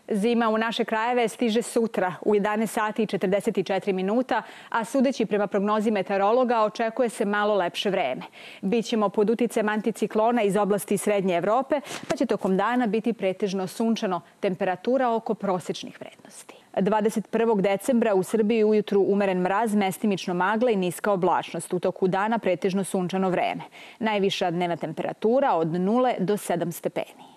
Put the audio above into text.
Zima u naše krajeve stiže sutra u 11 sati i 44 minuta, a sudeći prema prognozi meteorologa očekuje se malo lepše vreme. Bićemo pod uticajem anticiklona iz oblasti Srednje Evrope, pa će tokom dana biti pretežno sunčano, temperatura oko prosečnih vrednosti. 21. decembra u Srbiji ujutru umeren mraz, mestimično magla i niska oblačnost. U toku dana pretežno sunčano vreme. Najviša dnevna temperatura od 0 do 7 stepeni.